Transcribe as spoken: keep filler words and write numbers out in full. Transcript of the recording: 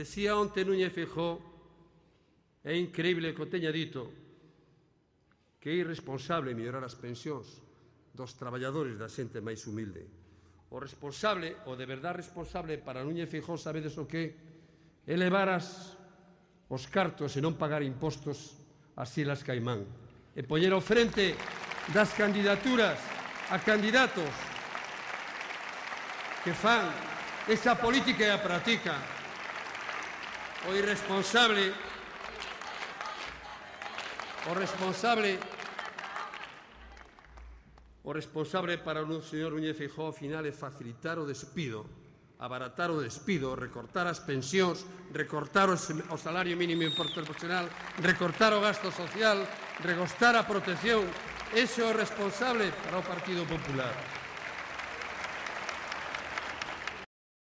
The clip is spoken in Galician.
Decía onte Núñez Feijóo, é increíble que o teña dito, que é irresponsable mellorar as pensións dos traballadores da xente máis humilde. O responsable, o de verdade responsable para Núñez Feijóo, sabedes o que? É levar as, os cartos e non pagar impostos ás Islas Caimán e poñer ao frente das candidaturas a candidatos que fan esa política e a practican. O irresponsable, o responsable, o responsable para o señor Núñez Feijóo ao final é facilitar o despido, abaratar o despido, recortar as pensións, recortar o salario mínimo interprofesional, recortar o gasto social, recortar a protección. Ese é o responsable para o Partido Popular.